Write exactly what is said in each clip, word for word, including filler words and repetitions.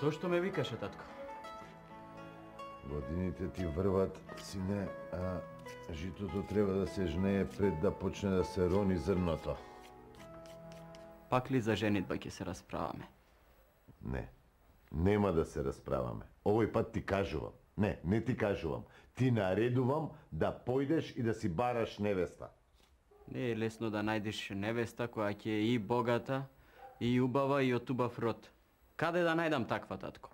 Зошто ме викаше, татко? Годините ти врват, сине, а житото треба да се жнее пред да почне да се рони зрното. Пак ли за женитба ќе се расправаме? Не, нема да се расправаме. Овој пат ти кажувам. Не, не ти кажувам. Ти наредувам да појдеш и да си бараш невеста. Не е лесно да најдеш невеста која ќе е и богата, и убава, и од убав род. Каде да најдам таква, татко?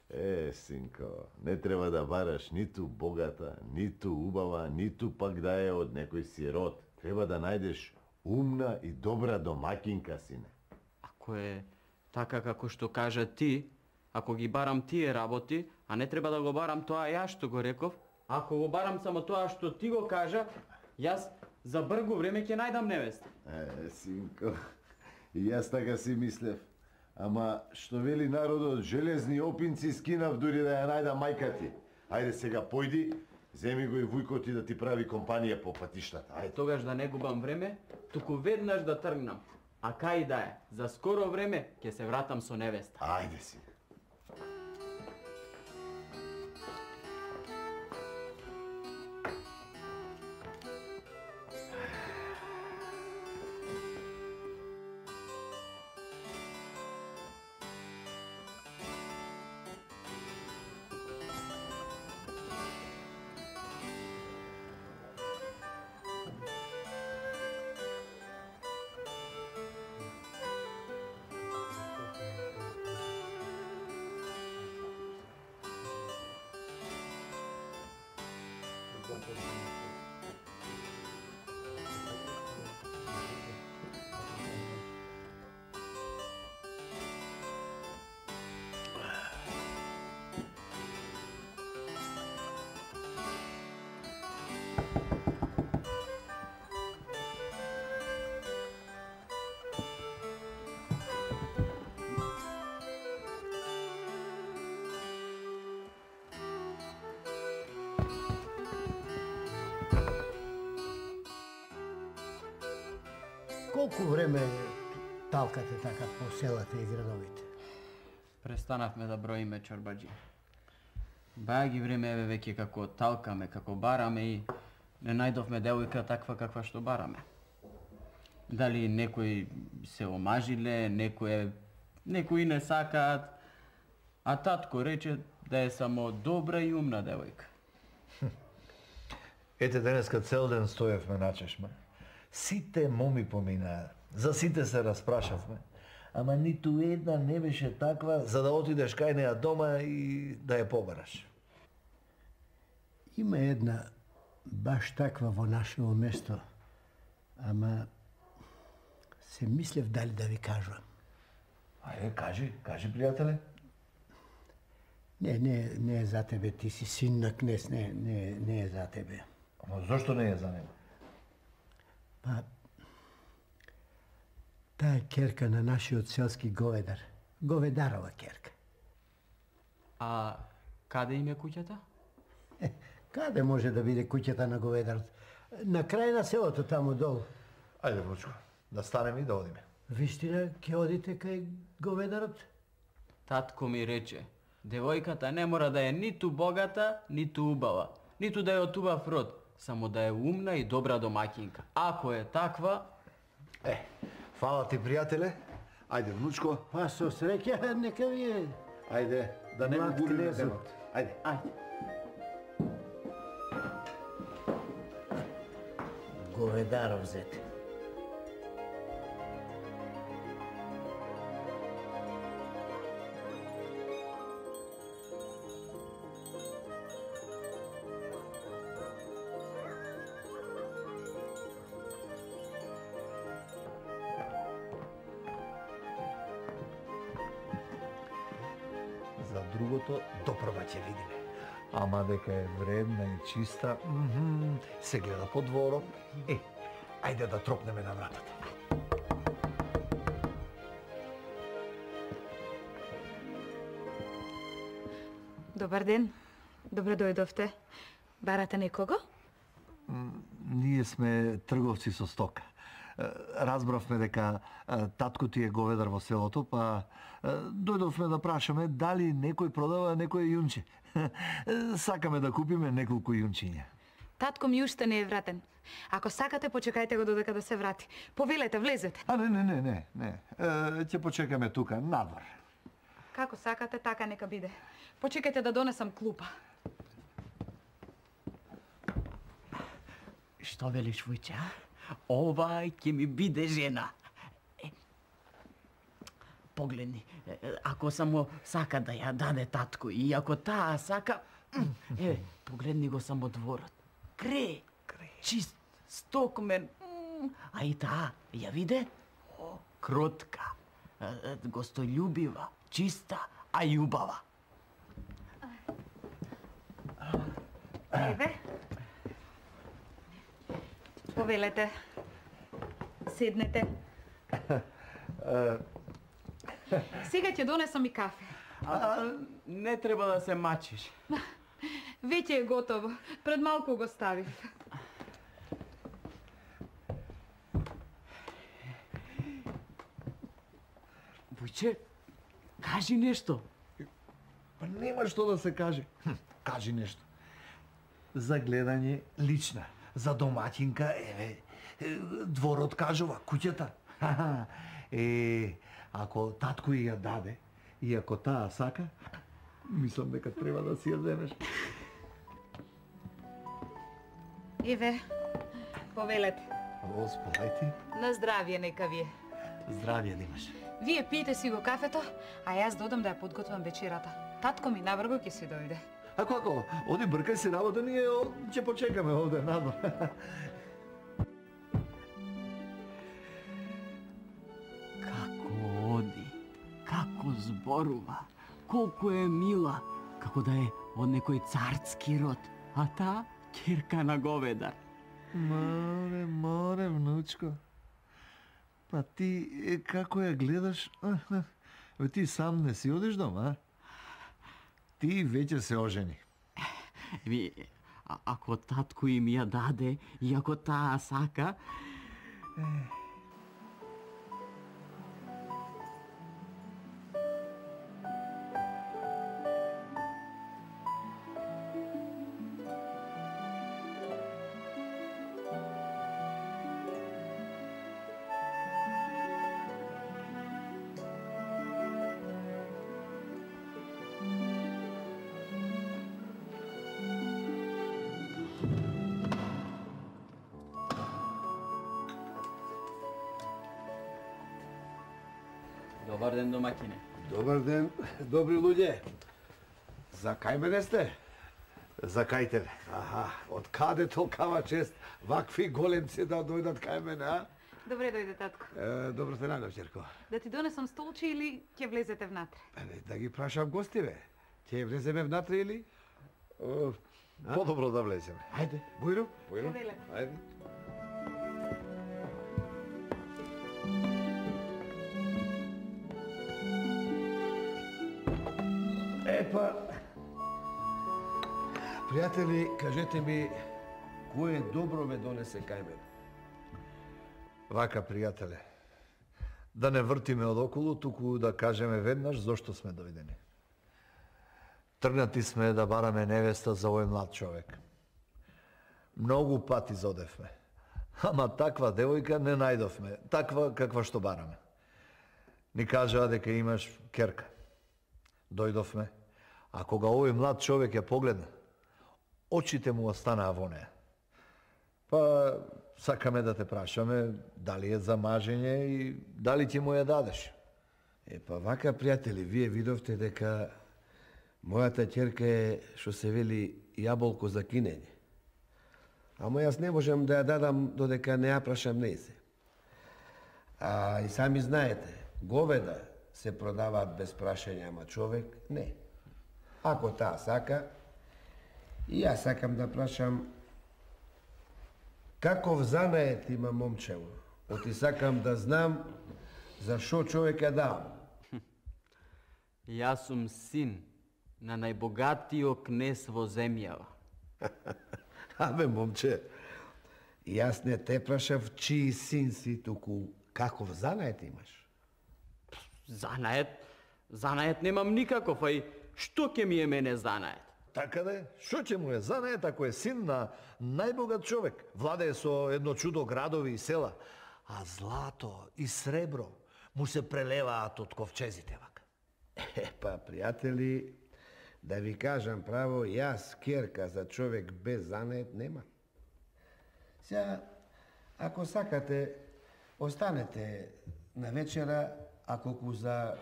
Е, синко, не треба да бараш ниту богата, ниту убава, ниту пак да е од некој си род. Треба да најдеш умна и добра домакинка, сине. Ако е така како што кажа ти, ако ги барам тие работи, а не треба да го барам тоа ја што го реков, ако го барам само тоа што ти го кажа, јас за бргу време ќе најдам невеста. Е, синко, и јас така си мислев. Ама, што вели народот, железни опинци скинав дури да ја најдам мајка ти. Ајде сега појди, земи го и вујкот ти да ти прави компанија по патиштата. Ајде. Тогаш да не губам време, туку веднаш да тргнам. А кај да е, за скоро време ќе се вратам со невеста. Ајде си. Колку време талкате така по селата и градовите? Престанавме да броиме чорбаджи. Баја ги време еве веќе како талкаме, како бараме и не најдовме девојка таква каква што бараме. Дали некои се омажиле, некои некои не сакаат, а татко рече да е само добра и умна девојка. Ете денеска цел ден стоевме на чешма. Сите моми поминаа, за сите се распрашавме, ама ниту една не беше таква за да отидеш кај неа дома и да ја побараш. Има една баш таква во нашето место, ама се мислев дали да ви кажувам. Ајде, кажи, кажи, пријателе. Не, не, не е за тебе, ти си син на кнез, не, не, не е за тебе. Ама зошто не е за него? Па, таа е керка на нашиот селски говедар. Говедарова керка. А каде им е куќата? Е, каде може да биде куќата на говедарот? На крај на селото, таму долу. Ајде, Вучко, да станеме и да одиме. Вистина, ќе одите кај говедарот? Татко ми рече, девојката не мора да е ниту богата, ниту убава, ниту да е од убав род, само да е умна и добра домакинка. Ако е таква... Е, фала ти, пријателе. Ајде, внучко. Па со среќа, нека ви е. Ајде, да не го Млад губиме кнезот. денот. Ајде. Ајде. Говедаров зете. За другото допрва ќе видиме. Ама дека е вредна и чиста, мхм, се гледа по дворот. Е, ајде да тропнеме на вратата. Добар ден. Добре дојдовте. Барате некого? Ние сме трговци со стока. Разбравме дека татко ти е говедар во селото, па дојдовме да прашаме дали некој продава некое јунче. Сакаме да купиме неколку јунчиња. Татко ми уште не е вратен. Ако сакате, почекајте го додека да се врати. Повелете, влезете. А не, не, не, не, не. Ќе почекаме тука, надвор. Како сакате, така нека биде. Почекајте да донесам клупа. Што велиш, Вујче? Ова ќе ми биде жена. Е, погледни, ако само сака да ја даде татко и ако таа сака... Е, погледни го само дворот. Кре, чист, стокмен, а и таа, ја виде? О, кротка, гостољубива, чиста, а љубава. Еве. Повелете. Седнете. Сега ќе донесам и кафе. А, не треба да се мачиш. Веќе е готово. Пред малку го ставив. Вујче, кажи нешто. Па нема што да се каже. Хм, кажи нешто. За гледање лична. За домаќинка, еве, дворот кажува, куќата. Е, ако татко ја даде, и ако таа сака, мислам дека треба да си ја земеш. Еве, повелете. Господајте. На здравје нека ви е. Здравје да имаш. Вие пиете си го кафето, а јас додам да ја подготвам вечерата. Татко ми набрго ќе си дојде. Ако, ако, оди бркај си работа, ние ќе почекаме овде надвор. Како оди, како зборува, колку е мила, како да е од некој царски род, а таа ќерка на говедар. Море, море, внучко. Па ти, е, како ја гледаш, Бе, ти сам не си одиш дома, а? Ти веќе се ожени. Ви, а, ако татко им ја даде и ако таа сака... Добар ден, домаќине. Добар ден, добри луѓе. За кај мене сте? За кај тебе? Аха, од каде толкава чест вакви големци да дојдат кај мене, а? Добре дојде, татко. Е, добро те најдов, ќерко. Да ти донесам столче или ќе влезете внатре? Е, да ги прашам гостиве. Ќе влеземе внатре или? О, подобро да влеземе. Ајде, Бујро, Бујро. Повелете. Ајде. Епа, пријатели, кажете ми, кое добро ме донесе кај мене? Вака, пријателе, да не вртиме од околу, туку да кажеме веднаш зошто сме дојдени. Тргнати сме да бараме невеста за овој млад човек. Многу пати зодевме, ама таква девојка не најдовме, таква каква што бараме. Ни кажаа дека имаш керка. Дојдовме, а кога овој млад човек ја погледна, очите му останаа во неа. Па сакаме да те прашаме дали е за мажење и дали ти му ја дадеш. Е, па вака, пријатели, вие видовте дека мојата ќерка е, што се вели, јаболко за кинење. Ама јас не можам да ја дадам додека не ја прашам нејзе. А и сами знаете, говеда се продаваат без прашање, ама човек не. Ако таа сака, и јас сакам да прашам каков занает има момчево. Оти сакам да знам за шо човек ја дал. Јас сум син на најбогатиот кнез во земјава. Абе, момче, Јас не те прашав чиј син си, туку каков занает имаш? Занает? Занает немам никаков, а и што ќе ми е мене занает? Така де, што ќе му е занает ако е син на најбогат човек? Владее со едно чудо градови и села, а злато и сребро му се прелеваат од ковчезите вака. Е, па, пријатели, да ви кажам право, јас керка за човек без занает нема. Сега, ако сакате, останете на вечера, а колку за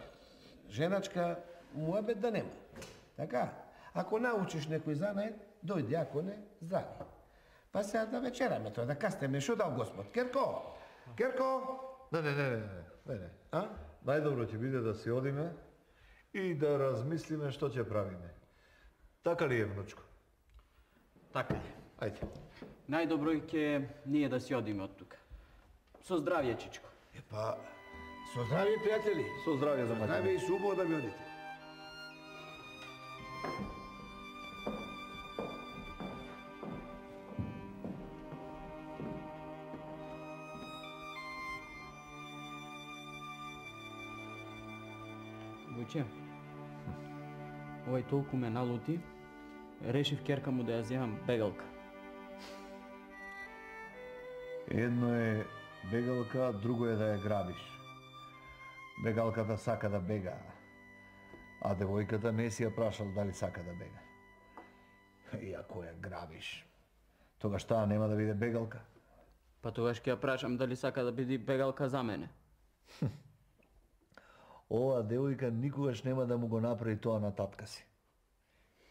женачка, муабет да нема. Така? Ако научиш некој занает, дојди, ако не, здрави. Па сега да вечераме тоа, да кастеме, шо дал Господ? Керко? Керко? Не, не, не, не, не, не. А? Најдобро ќе биде да си одиме и да размислиме што ќе правиме. Така ли е, внучко? Така е. Ајде. Најдобро е ќе ние да си одиме од тука. Со здравје, чичко. Е, па, со здравје, пријатели. Со здравје за мајка. Здравје и субо да ми одите. Вујче, овој толку ме налути, решив керка му да ја земам бегалка. Едно е бегалка, друго е да ја грабиш. Бегалката сака да бега, а девојката не си ја прашал дали сака да бега. И ако ја грабиш, тогаш таа нема да биде бегалка. Па тогаш ќе ја прашам дали сака да биде бегалка за мене. Ова девојка никогаш нема да му го направи тоа на татка си.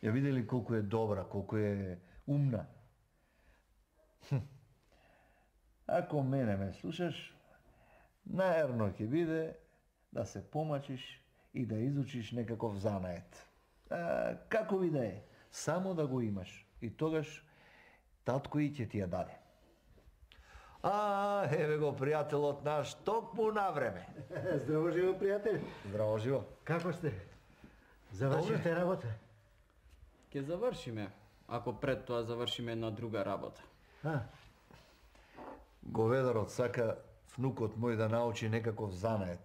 Ја видели колку е добра, колку е умна. Ако мене ме слушаш, наерно ќе биде да се помачиш и да изучиш некаков занает. А, како ви да е, само да го имаш. И тогаш татко и ќе ти ја даде. А, еве го пријателот наш, токму на време. Здраво живо, пријатели. Здраво живо. Како сте? Завршивте работа? Ќе завршиме, ако пред тоа завршиме една друга работа. А, Говедарот сака внукот мој да научи некаков занает,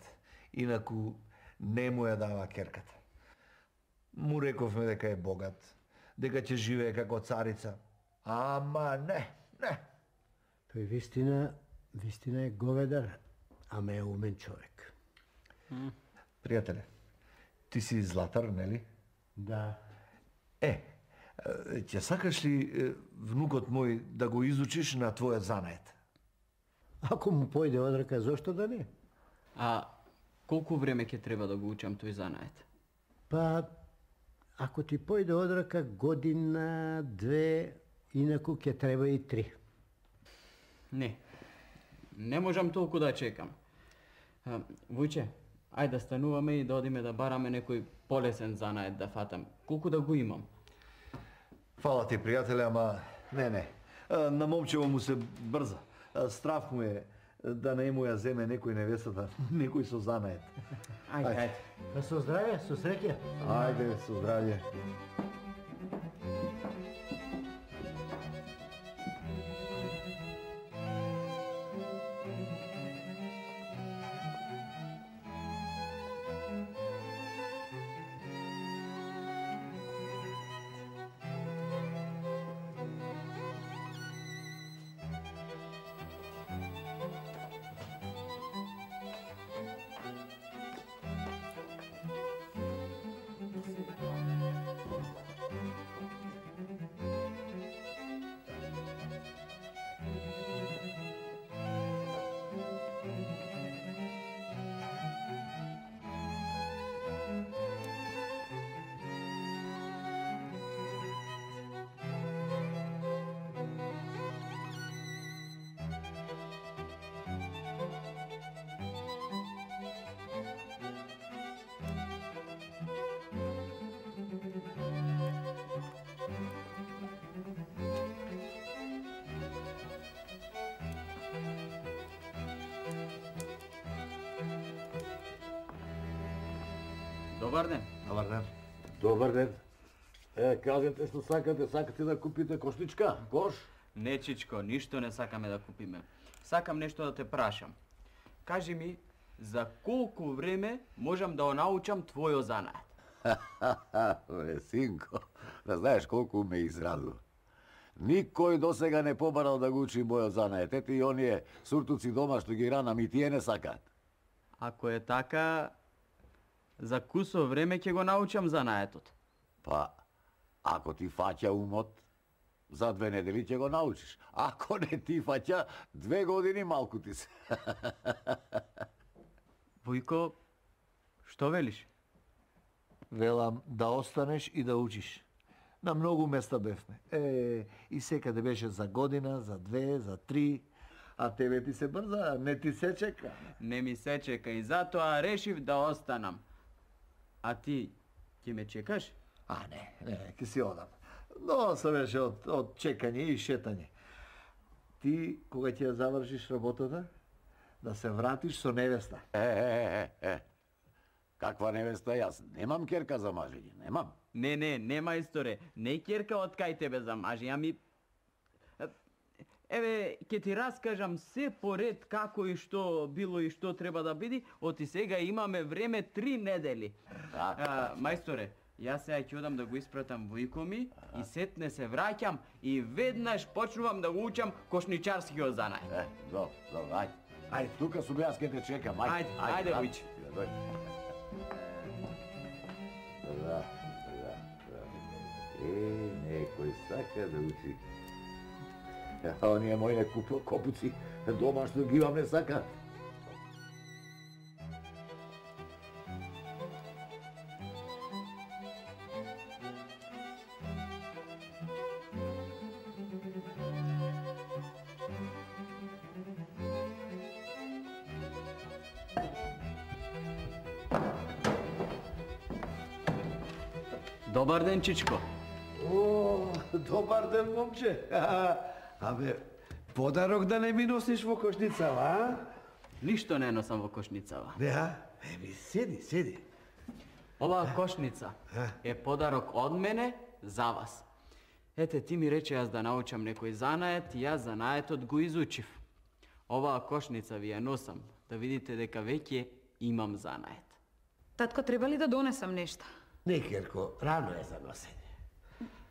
инаку не му ја дава керката. Му рековме дека е богат, дека ќе живее како царица. Ама не, не. тој вистина, вистина е говедар, ама е умен човек. Пријателе, ти си златар, нели? Да. Е, ќе сакаш ли е, внукот мој да го изучиш на твојот занает? Ако му појде од рака, зошто да не? А колку време ќе треба да го учам тој занает? Па, ако ти појде од рака година, две, инаку ќе треба и три. Не, не можам толку да чекам. А, Вујче, ајде да стануваме и да одиме да бараме некој полесен занает да фатам. Колку да го имам? Фала ти, пријателе, ама не, не. А, на момчево му се брза. А, Страф му е да не му ја земе некој невестата, некој со занает. Ајде, ајде. Па со здравје, со среќа. Ајде, со здравје. Добар ден. Добар ден. Добар ден. Е, кажете што сакате, сакате да купите коштичка, кош? Не, Чичко, ништо не сакаме да купиме. Сакам нешто да те прашам. Кажи ми, за колку време можам да научам твојо занаат? Бе, синко, да знаеш колку ме израдува. Никој досега не побарал да го учи мојот занаат. Ете и оние суртуци дома што ги ранам и тие не сакаат. Ако е така, за кусо време ќе го научам занаетот. Па, ако ти фаќа умот, за две недели ќе го научиш. Ако не ти фаќа, две години малку ти се. Вујко, што велиш? Велам да останеш и да учиш. На многу места бевме. Е, и секаде беше за година, за две, за три. А тебе ти се брза, не ти се чека. Не ми се чека и затоа решив да останам. А ти, ќе ме чекаш? А не, не, ке си одам. Но се беше од, од чекање и шетање. Ти, кога ќе ја завршиш работата, да се вратиш со невеста. Е, е, е, е. Каква невеста? Јас немам керка за мажење, немам. Не, не, не мајсторе, не керка од кај тебе за мажи, ами... Еве, ќе ти раскажам се поред како и што било и што треба да биде, оти сега имаме време три недели. А, мајсторе, јас сега ќе одам да го испратам војко ми и сетне се враќам и веднаш почнувам да го учам кошничарскиот занај. Е, добро, добро, ајде. Ајде, тука сум јас ке те чекам, ајде. Ајде, ајде, Вујче. Дојди. Да, да, да. Е, некој сака да учи. А оние мои не купил копуци, дома што ги имам не сакаат. Добар ден, Чичко. О, добар ден, момче. Абе, подарок да не ми носиш во кошницава, а? Ништо не носам во кошницава. Не, а? Еби, седи, седи. Оваа кошница е подарок од мене за вас. Ете, ти ми рече јас да научам некој занает и јас занаетот го изучив. Оваа кошница ви ја носам, да видите дека веќе имам занает. Татко, треба ли да донесам нешто? Не, Керко, рано е за носење.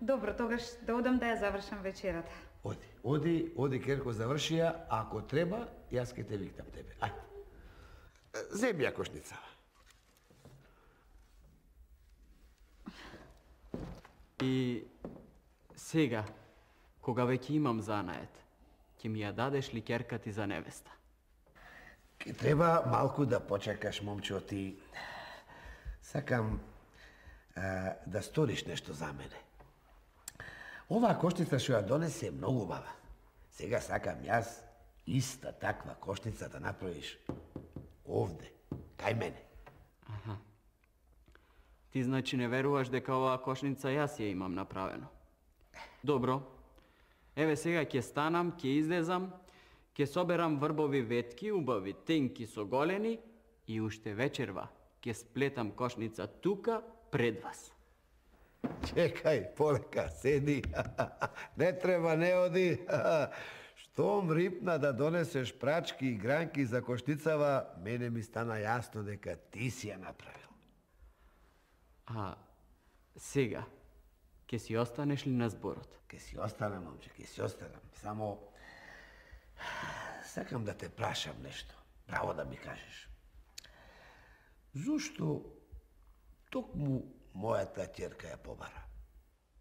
Добро, тогаш да одам да ја завршам вечерата. Оди, оди, оди, Керко, заврши ја. Ако треба, јас ке те викнам тебе. Ајде. Земи ја кошницава. И сега, кога веќе имам занает, ќе ми ја дадеш ли ќерка ти за невеста? Ке треба малку да почекаш, момчо, ти. Сакам а, да сториш нешто за мене. Оваа кошница што ја донесе е многу убава. Сега сакам јас иста таква кошница да направиш овде, кај мене. Аха. Ти значи не веруваш дека оваа кошница јас ја имам направено. Добро. Еве сега ќе станам, ќе излезам, ќе соберам врбови ветки, убави, тенки со голени и уште вечерва ќе сплетам кошница тука пред вас. Чекај, полека, седи. Не треба, не оди. Штом рипна да донесеш прачки и гранки за кошницава, мене ми стана јасно дека ти си ја направил. А сега, ќе си останеш ли на зборот? Ке си останам, момче, ке си останам. Само сакам да те прашам нешто. Право да ми кажеш. Зошто токму мојата ќерка ја побара?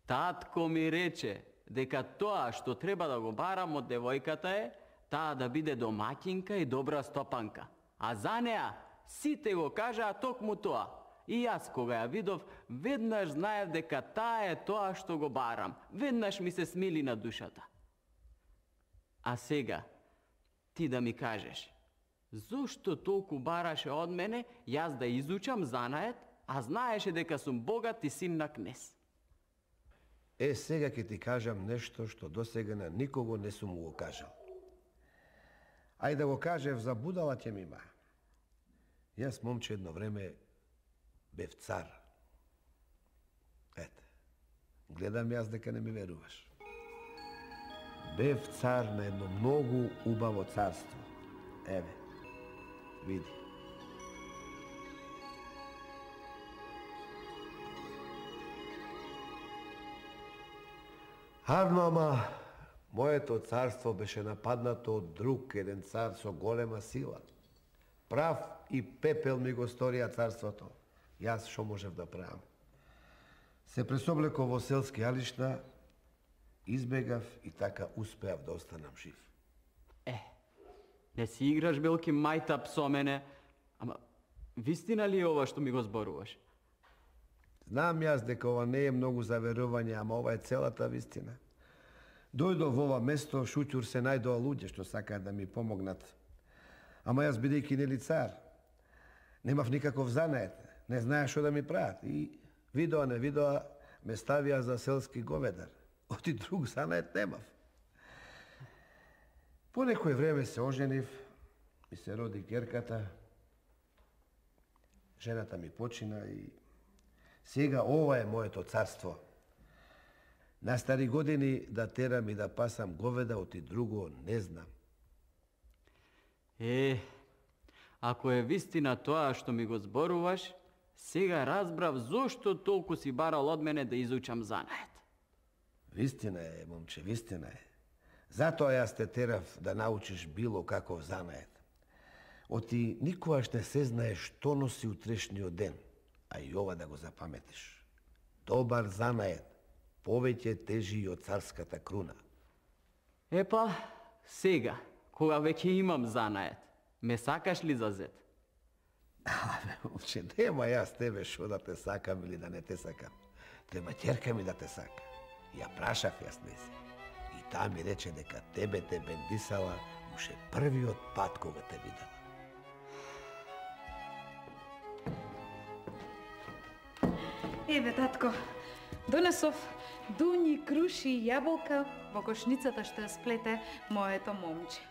Татко ми рече дека тоа што треба да го барам од девојката е таа да биде домаќинка и добра стопанка. А за неа сите го кажаа токму тоа. И јас кога ја видов, веднаш знаев дека таа е тоа што го барам. Веднаш ми се смили на душата. А сега, ти да ми кажеш, зошто толку бараше од мене јас да изучам занает, а знаеше дека сум богат и син на кнез? Е, сега ќе ти кажам нешто што досега на никого не сум го кажал. Ај да го кажев за будала ќе ми има. Јас, момче, едно време бев цар. Ете, гледам јас дека не ми веруваш. Бев цар на едно многу убаво царство. Еве, види. Харно, ама моето царство беше нападнато од друг еден цар со голема сила. Прав и пепел ми го сторија царството. Јас што можев да правам? Се пресоблеков во селски алишна, избегав и така успеав да останам жив. Е, не си играш белки мајтап со мене, ама вистина ли е ова што ми го зборуваш? Знам јас дека ова не е многу за верување, ама ова е целата вистина. Дојдов во ова место, шуќур се најдоа луѓе што сакаат да ми помогнат. Ама јас бидејќи нели цар, немав никаков занает, не знаеш што да ми прават и видоа не видоа ме ставија за селски говедар. Оти друг занает немав. По некој време се оженив, ми се роди ќерката, жената ми почина и сега ова е моето царство. На стари години да терам и да пасам говеда, оти друго не знам. Е, ако е вистина тоа што ми го зборуваш, сега разбрав зошто толку си барал од мене да изучам занает. Вистина е, момче, вистина е. Затоа јас те терав да научиш било каков занает. Оти никогаш не се знае што носи утрешниот ден, а и ова да го запаметиш. Добар занает повеќе тежи и од царската круна. Епа, сега, кога веќе имам занает, ме сакаш ли за зет? Абе, момче, нема јас тебе шо да те сакам или да не те сакам. Треба ќерка ми да те сака. Ја прашав јас неси. И таа ми рече дека тебе те бендисала уште првиот пат кога те видела. Еве, татко, донесов дуњи, круши и јаболка во кошницата што ја сплете моето момче.